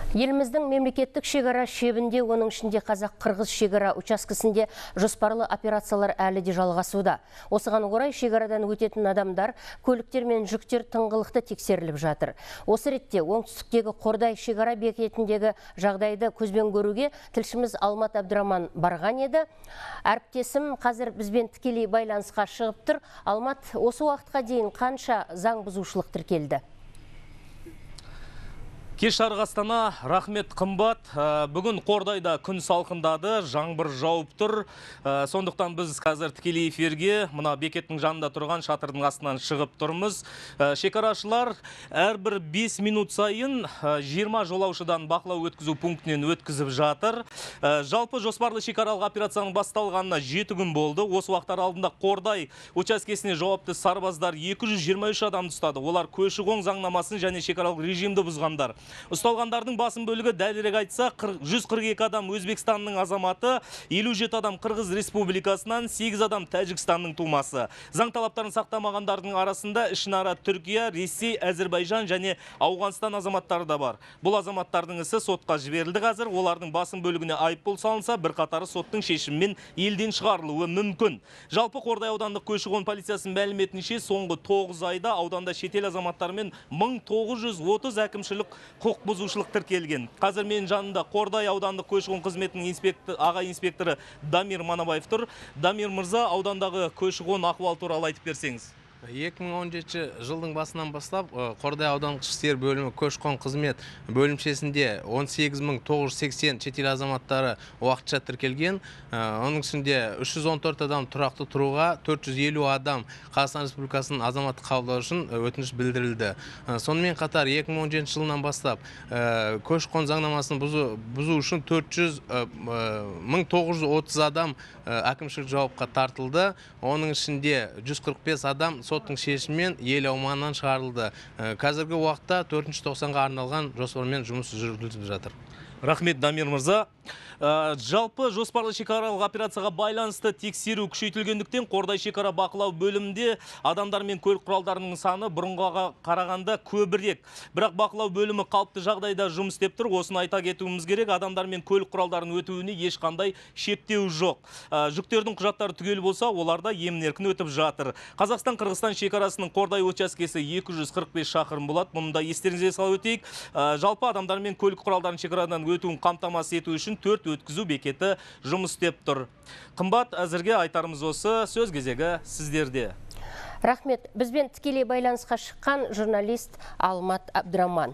Еліміздің мемлекеттік шекара шебінде, оның ішінде қазақ-қырғыз шекара учаскесінде жоспарлы операциялар әлі де жалғасуда. Осыған орай шекарадан өтетін адамдар, көліктер мен жүктер тыңғылықты тексеріліп жатыр. Осы ретте оңтүстіктегі Қордай шекара бекетіндегі жағдайды көзбен көруге тілшіміз Алмат Абдраман барған еді. Әріптесім қазір бізбен тікелей байланысқа шығып тұр. Алмат, осы уақытқа дейін қанша заң бұзушылық тіркелді? Кеш жарық Астана, рахмет қымбат. Бүгін Қордайда күн салқындады, жаңбыр жауып тұр. Сондықтан біз қазір тікелей эфирге мына бекеттің жанында тұрған шатырдың астынан шығып тұрмыз. Шекарашылар әрбір 5 минут сайын 20 жолаушыдан бақылау өткізу пунктінен өткізіп жатыр. Жалпы жоспарлы шекаралық операцияның басталғанына 7 күн болды. Осы уақыттар алдында Қордай учаскесіне жауапты сарбаздар 223 адамды ұстады. Олар көші-қон заңнамасын және шекаралық режимді бұзғандар. Ұсталғандардың басым бөлігі, дәлірек айтса, 142 адам Өзбекстанның азаматы, 57 адам Қырғыз Республикасынан, 8 адам Тәжікстанның тумасы. Заң талаптарын сақтамағандардың арасында ішінара Түркия, Ресей, Әзірбайжан және Ауғанстан азаматтары да бар. Бұл азаматтардың ісі сотқа жіберілді қазір. Олардың басым бөлігіне айыппұл салынса, бірқатары соттың шешімімен елден шығарылуы мүмкін. Жалпы Қордай аудандық көші-қон полициясының мәліметінше, соңғы 9 айда ауданда шетел азаматтарымен 1930 әкімшілік құқық бұзушылық тіркелген. Қазір мен жанында Қордай аудандық көші-қон қызметінің аға инспекторы Дамир Манабаев тұр. Дамир мырза, аудандағы көші-қон ахуал туралы айтып берсеңіз. 2017 жылдың басынан бастап Қордай аудандық ішкі істер бөлімі көші-қон қызмет бөлімшесінде 18.980 шетел азаматтары уақытша тіркелген. Оның ішінде 314 адам тұрақты тұруға, 450 адам Қазақстан Республикасының азаматтық қабылдау үшін өтініш білдірілді. Сонымен қатар 2017 жылынан бастап көші-қон заңнамасын бұзу үшін 1930 адам әкімшілік жауапқа тартылды. Оның ішінде 145 адам соттың шешімімен ел аумағынан шығарылды. Қазіргі уақытта 4-ші тоқсанға арналған жоспармен жұмыс жүргізіліп жатыр. Рахмет, Дамир мырза. Жалпы жоспарлы шекаралық операцияға байланысты тексеру күшейтілгендіктен Қордай шекара бақылау бөлімінде адамдар мен көлік құралдарының саны бұрынғыға қарағанда көбірек. Бірақ бақылау бөлімі қалыпты жағдайда жұмыс істеп тұр. Осыны айта кетуіміз керек. Адамдар мен көлік құралдарының өтуіне ешқандай шектеу жоқ. Жүктердің құжаттары түгел болса, оларда емін-еркін өтіп жатыр. Қазақстан-Қырғызстан шекарасының Қордай учаскесі 245 шақырым болады. Мұнда естеріңізге салып өтейік. Жалпы адамдар мен көлік құралдарының шекарадан өтуін қамтамасыз ету үшін 4 өткізу бекеті жұмыс істеп тұр. Қымбат, әзірге айтарымыз осы. Сөз кезегі сіздерде. Рахмет, бізбен тікелей байланысқа шыққан журналист Алмат Абдраман.